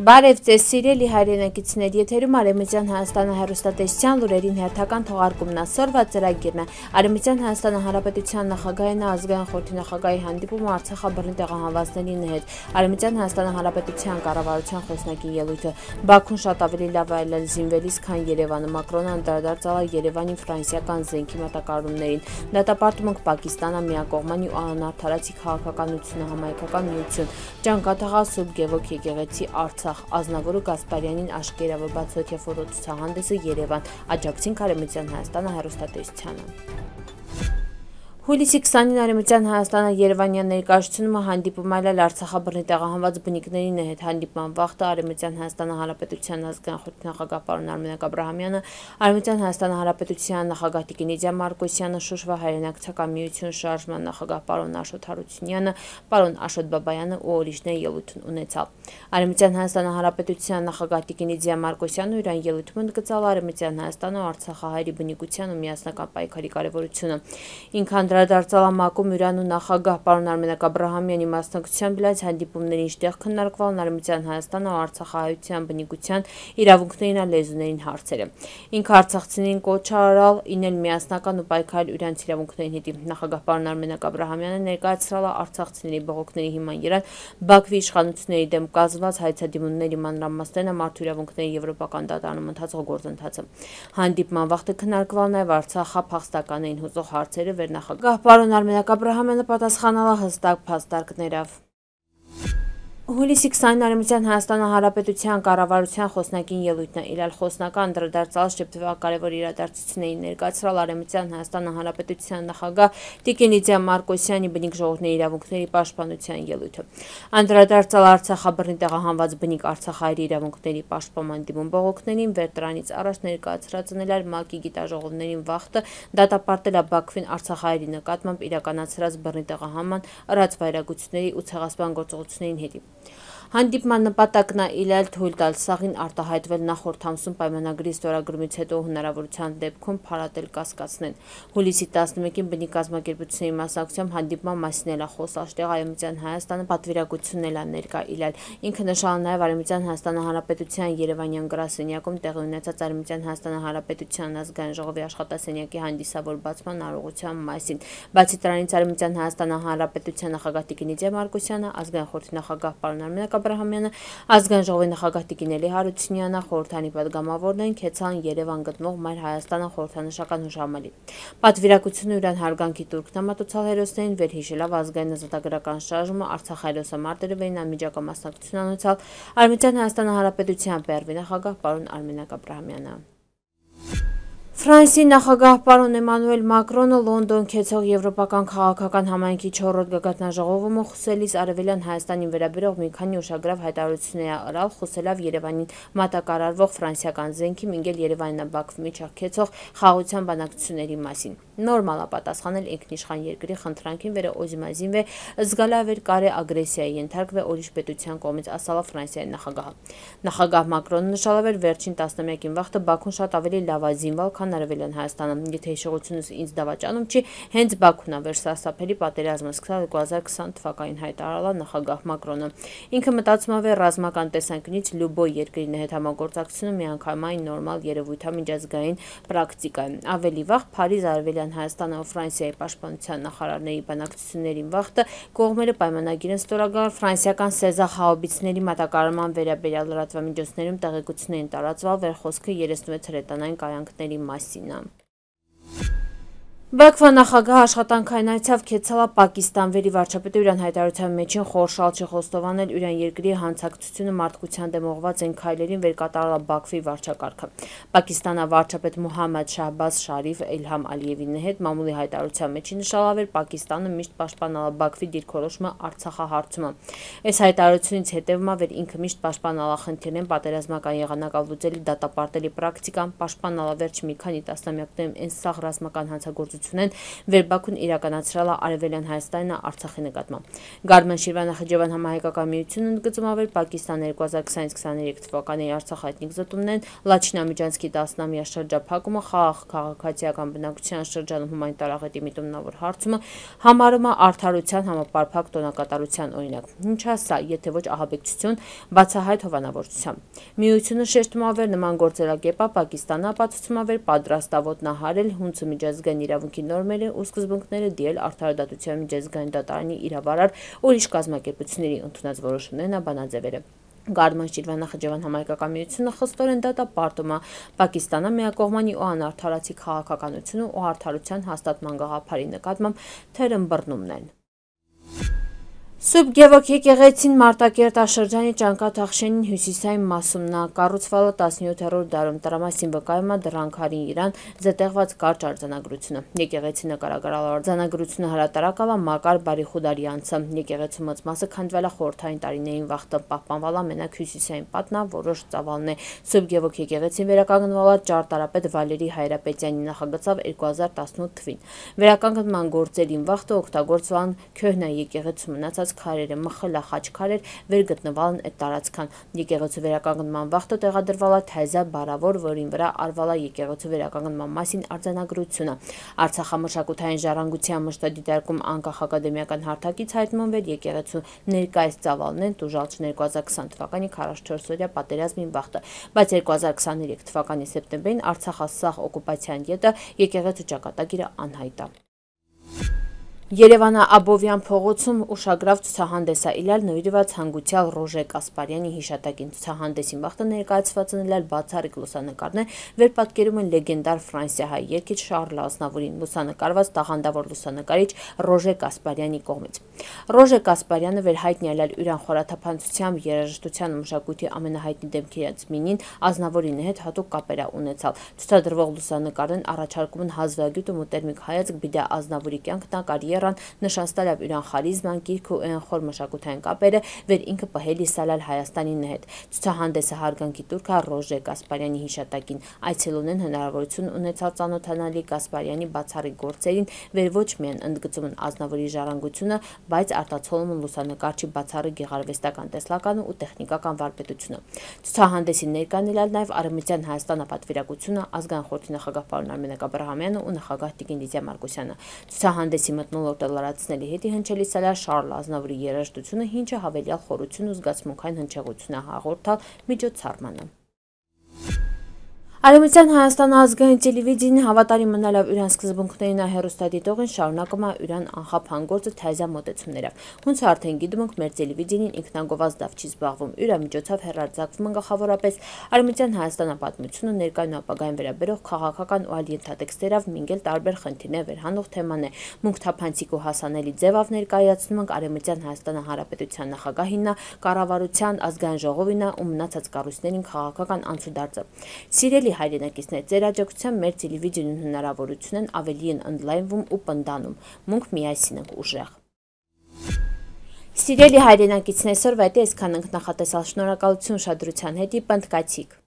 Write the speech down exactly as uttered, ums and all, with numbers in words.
Բարև ձեզ սիրելի հայրենակիցներ, եթերում Արևմտյան Հայաստանը հեռուստատեսության լուրերին հերթական թողարկումն է, սորվա ծրագիրն է։ Արևմտյան Հայաստանը Հանրապետության նախագահին ազգային խորհրդի նախագահի հանդիպումը Արցախաբռնի տեղահանվածների հետ։ Արևմտյան Հայաստանը Հանրապետության կառավարության խոսնակի ելույթը։ Բաքուն շատ ավելի լավ է զինվելիս, քան Երևանը։ Մակրոնը անդրադարձել է Երևանի ֆրանսիական զենքի մատակարարումներին։ Դատապարտում ենք Պակիստանը, միակողմանի ու անարդարացի քաղաքականությունը, համայնքական միություն, Ճանկաթաղա Սուրբ Գևորգ եկեղեցի Արցախ, Ազնավուրը Գասպարյանին աշկերա, որ բացօթյա ֆոտոցուցահանդեսը Երևան, աջակցին Արևմտյան Հայաստանը հեռուստատեսությանը։ Հուլիսի քսանին Արևմտյան Հայաստանը Երևանյան ներկայացումը հանդիպում այլել Արցախաբռնի տեղահանված բնիկներին հետ հանդիպման վաղտը Արևմտյան Հայաստանը Հանրապետության ազգային խորհրդի նախագահ պարոն Արմենակ Աբրահամյանը, Արևմտյան Հայաստանը Հանրապետության նախագահ Տիկին Լիդիա Մարկոսյանը, Շուշվա հայրենակցական միություն շարժման նախագահ պարոն Աշոտ Հարությունյանը, պարոն Աշոտ Բաբայանը ու ուրիշներ ելույթ ունեցավ։ Արևմտյան Հայաստանը Հանրապետության նախագահ Տիկին Լիդիա Մարկոսյանը իրան ելույթում ընդգծել Արևմտյան Հայաստանը ու Արցախահայերի բնիկության ու միասնական պայքարի կարևորությունը։ Ինքան Անդրադարձալ մակում Իրանու նախագահ պարոն Արմենակ Աբրահամյանի մասնակցությամբ լայց հանդիպումների ինչտեղ քննարկվել Արևմտյան Հայաստանը ու Արցախահայության բնիկության իրավունքներին ու լեզուներին հարցերը։ Ինքը արցախցիներին կոչ արել ինել միասնական ու պայքարել իրանց իրավունքներին հետ։ Նախագահ պարոն Արմենակ Աբրահամյանը ներկայացրել է արցախցիների բողոքների հիման երան Բաքվի իշխանությունների դեմ կազմված հայցադիմումների մանրամասներն մարդու իրավունքների եվրոպական դատարանում ընթացող գործընթացը։ Հանդիպման վաղտը քննարկվել նաև Արցախը փախստականներին հուզող հարցերը վերնախագահ պարոն Արմենակ Աբրահամյանը պատասխանել է հստակ փաստարկներով։ Հուլիսի քսանին Արևմտյան Հայաստանը Հանրապետության կառավարության խոսնակին ելույթն է իրալ խոսնակը անդրադարձալ շփթվակարևոր իրադարձություններին ներկայացրել Արևմտյան Հայաստանը Հանրապետության նախագահ Տիկին Լիդիա Մարկոսյանի բնիկ ժողովրդների իրավունքների պաշտպանության ելույթը։ Անդրադարձալ Արցախաբռնի տեղահանված բնիկ Արցախահայերի իրավունքների պաշտպանման դիմում բողոքներին վերտրանից առաջ ներկայացրածնել էր ՄԱԿ-ի գիտաժողովներին վաղտը դատապարտել է Բաքվին Արցախահայերի նկատմամբ իրականացրած բռնի տեղահանման, ըրած վայրագությունների ու ցեղասպան գործողություններին հետ։ Հանդիպման նպատակն է իլել թույլ տալ սաղին արտահայտվել նախորդ ամսում պայմանագրի ստորագրումից հետո հնարավորության դեպքում փարատել կասկածներ։ Հուլիսի տասնմեկին բնիկ կազմակերպությունների մասնակցությամբ հանդիպման մասին էլ է խոսալ Արևմտյան Հայաստանը պատվիրակությունն էլ է ներկա իլել։ Ինքը նշել նաև Արևմտյան Հայաստանը Հանրապետության Երևանյան գրասենյակում տեղի ունեցած Արևմտյան Հայաստանը Հանրապետության ազգային ժողովի աշխատասենյակի հանդիսավոր բացման արարողության մասին։ Բացի դրանից Արևմտյան Հայաստանը Հանրապետության նախագահ Տիկին Լիդիա Մարկոսյանը, ազգային խորհրդի նախագահ պարոն Արմենակ Աբրահամյանը, ազգային ժողովի նախագահ Տիկին Էլի Հարությունյանը, խորհրդանի պատգամավորներին քեցան Երևան գտնվող Մայր Հայաստանը խորհրդանշական հուշամալի։ Պատվիրակությունը իրան հարգանքի տուրքն է մատուցել հերոսներին, վերհիշելով ազգային ազատագրական շարժումը, Արցախ հերոսամարտերը վերին անմիջական մասնակցություն անցալ Արևմտյան Հայաստանը Հանրապետության Պերվի նախագահ պարոն Արմենակ Աբրահամյանը։ Ֆրանսիայի նախագահ պարոն Էմանուել Մակրոնը Լոնդոն քեցող եվրոպական քաղաքական համայնքի չորրորդ գագաթնաժողովում խոսելիս Արևելյան Հայաստանին վերաբերող մի քանի ուշագրավ հայտարարություններ է արել, խոսելով Երևանին մատակարարվող ֆրանսիական զենքի մինգել Երևանին Բաքվի միջև քեցող խաղաղության բանակցությունների մասին։ Նորմալ է պատասխանել ինքնիշխան երկրի խնդրանքին վերը օզիմազին վե զգալավեր կարե ագրեսիայի ենթարկվե ուրիշ պետության կողմից, ասալ է Ֆրանսիայի նախագահը։ Նախագահ Մակրոնը նշել էր վերջին տասնամյակին վաղտը Բաքուն շատ ավելի լավ է զինվել, քան Արևելյան Հայաստանը։ Եթե հիշողությունս ինձ դավաճանում չի, հենց Բաքուն է վերսասափելի պատերազմը սկսել երկու հազար քսան թվականին, հայտարարել է նախագահ Մակրոնը։ Ինքը մտածում է ռազմական տեսանկյունից լյուբոյ երկրի հետ համագործակցությունը միանգամայն նորմալ երևույթ է, միջազգային պրակտիկա է։ Ավելի վաղ Փարիզ Արևելյան Հայաստանը ու Ֆրանսիայի պաշտպանության նախարարների բանակցություններին վաղտը կողմերը պայմանագիր են ստորագրել ֆրանսիական Սեզա հաուբիցների մատակարարման վերաբերյալ լրատվամիջոցներում տեղեկություններ են տարածվել, վեր խոսքը երեսունվեց հրետանային կայանքների մասին է։ Բաքվա նախագահ աշխատանքային այցով քեցել է Պակիստան, վերի վարչապետը իրան հայտարարության մեջին խորշալ չի խոստովանել իրան երկրի հանցակցությունը մարդկության դեմ ուղղված են քայլերին վեր կատարել է Բաքվի վարչակարգը։ Պակիստանա վարչապետ Մոհամմադ Շահբազ Շարիֆ Էլհամ Ալիևի հետ մամուլի հայտարարության մեջին նշել է Պակիստանը միշտ պաշտպանել է Բաքվի դիրքորոշումը Արցախահարցումը։ Այս հայտարարությունից հետևում է վեր ինքը միշտ պաշտպանել է խնդիրներն պատերազմական եղանակով լուծելի դատապարտելի պրակտիկան, պաշտպանել է վերջ մի քանի տասնամյակներում այն սաղ ռազմական հանցագործություն ուշադրություն են Վերբաքուն իրականացրել է Արևելյան Հայաստանն Արցախի նկատմամբ։ Գարմեն Շիրվանախճեվան համահայկական միությունն ընդգծում է, որ Պակիստանը երկու հազար քսաինից քսաներեք թվականի Արցախ էթնիկ զտումներն Լաչինամիջանցքի տասնամյա շրջափակումը խաղաղ քաղաքացիական բնակության շրջանում հումանիտար աղետի միտումնավոր հարցումը համարում է արդարության համապարփակ տոնակատարության օրինակ։ Ինչ է սա, եթե ոչ ահաբեկչություն բացահայտ հովանավորությամբ։ Միությունը շեշտում է, որ նման գործելակերպը Պակիստանը ապացուցում է, որ պատրաստ է ոտնահարել հունցու միջազգային իրավունքի նորմերը ու սկզբունքները դիել արդարադատության միջազգային դատարանի իրավարար ուրիշ կազմակերպությունների ընդունած որոշումներն բանաձևերը։ Գարմեն Շիրվանախճեվան համահայկական միությունը խստորեն դատապարտում է Պակիստանը միակողմանի ու անարդարացի քաղաքականությունը ու արդարության հաստատման գաղափարի նկատմամբ թերըմբռնումն են։ Սուրբ Գևորգ եկեղեցին Մարտակերտաշրջանի Ճանկաթախշենին հյուսիսային մասում նա կառուցվել է տասնյոթերորդ դարում տրամասին վկայում է դրանքարին իրան զետեղված կարճ արձանագրությունը։ Եկեղեցի նկարագրալ արձանագրությունը հրատարակալ է Մակար Բարիխուդարյանցը։ Եկեղեցու մեծ մասը քանդվել է խորհրդային տարիներին վաղտը պահպանվել է մենակ հյուսիսային պատն է, որոշ ծավալն է։ Սուրբ Գևորգ եկեղեցին վերականգնվել է ճարտարապետ Վալերի Հայրապետյանի նախագծով երկու հազար տասնութ թվին։ Վերականգնման գործերին վաղտը օգտագործվել են Քյոհնա եկեղեցու մնացած քարերը, մխլա խաչքարեր վերգտնվալն այդ տարածքան։ Եկեղեցու վերականգնման վաղտը տեղադրվել է թայզա բարավոր, որին վրա արվել է եկեղեցու վերականգնման մասին արձանագրությունը։ Արցախամշակութային ժառանգության մշտադիտարկում անկախ ակադեմիական հարթակից հայտնում էր եկեղեցու ներկայիս ծավալն են տուժալչ երկու հազար քսան թվականի քառասունչորսօրյա պատերազմին վաղտը, բայց երկու հազար քսաներեք թվականի սեպտեմբերին Արցախը սահ օկուպացիան ետը եկեղեցու ճակատագիրը անհայտ է։ Երևանը Աբովյան փողոցում ուշագրավ ցուցահանդես է իլալ նվիրված հանգուցյալ Ռոժե Կասպարյանի հիշատակին։ Ցուցահանդեսին վաղտը ներկայացված են իլալ բացառիկ լուսանկարներ, վեր պատկերում են լեգենդար ֆրանսիահայ երգիչ Շարլ Ազնավուրին, լուսանկարված տաղանդավոր լուսանկարիչ Ռոժե Կասպարյանի կողմից։ Ռոժե Կասպարյանը վերհայտնի է իր անխորաթափանցությամբ, երաժշտության ու մշակույթի ամենահայտնի դեմքերից մինին Ազնավուրի հետ հատուկ կապեր է ունեցալ։ Ցուցադրվող լուսանկարներն առաջարկում են հազվագյուտ ու մոտերմիկ հայացք բիդա Ազնավուրի կյանքն կարիերան, նշանստալ է իրան խարիզման, գիրք ու խոր մշակութային կապերը, վեր ինքը պահելի սալալ Հայաստանի հետ։ Ցուցահանդեսը հարգանքի տուրք է Ռոժե Կասպարյանի հիշատակին։ Այցելուներն հնարավորություն ունեցալ ծանոթանալի Կասպարյանի բացառիկ գործերին, վեր ոչ միայն ընդգծում են Ազնավուրի ժառանգությունը, բայց արտացոլում են լուսանկարչի բացառիկ գեղարվեստական տեսլականը ու տեխնիկական վարպետությունը։ Ցուցահանդեսին ներկան ելալ նաև Արևմտյան Հայաստանը պատվիրակությունը, ազգային խորհրդի նախագահ պարոն Արմենակ Աբրահամյանը ու նախագահ Տիկին Լիդիա Մարկոսյանը։ Ցուցահանդեսի մթնոլորտը լրացնելի հետի հնչելի սալար Շարլ Ազնավուրի երաժշտությունը, ինչը հավելյալ խորություն ու զգացմունքային հնչեղություն է հաղորդալ միջոցառմանը։ Արևմտյան Հայաստանը ազգային տելևիզիան հավատարիմ մնալով իրան սկզբունքներին է հեռուստադիտողին շարունակում է իրան անխափան գործը թայզա մոտեցումներով։ Ոնց արդեն գիտում ենք, մեր տելևիզիան ինքնագովազդ դավ չի զբաղվում, իր միջոցով հեռարձակվում են գլխավորապես Արևմտյան Հայաստանը պատմությունը, ներկայուն ապագային վերաբերող քաղաքական ու այլ ենթատեքստերով մինգել տարբեր խնդիրներ վերհանող թեմաներ։ Մունք թափանցիկ ու հասանելի ձևով ներկայացնում ենք Արևմտյան Հայաստանի Հանրապետության նախագահինն, կառավարության, ազգային ժողովին ու մնացած կառույցներին քաղաքական անցուդարձը։ Սիրելի հայրենակիցներ, ձեր աջակցությամբ մեր տելևիզիոն հնարավորությունն ավելի են ընդլայնվում ու պնդանում։ Մունք միասին ենք ուժեղ։ Սիրելի հայրենակիցներ, այսօր վայտե այսքան ենք, նախատեսալ շնորհակալություն ուշադրության հետի, պնդկացիք։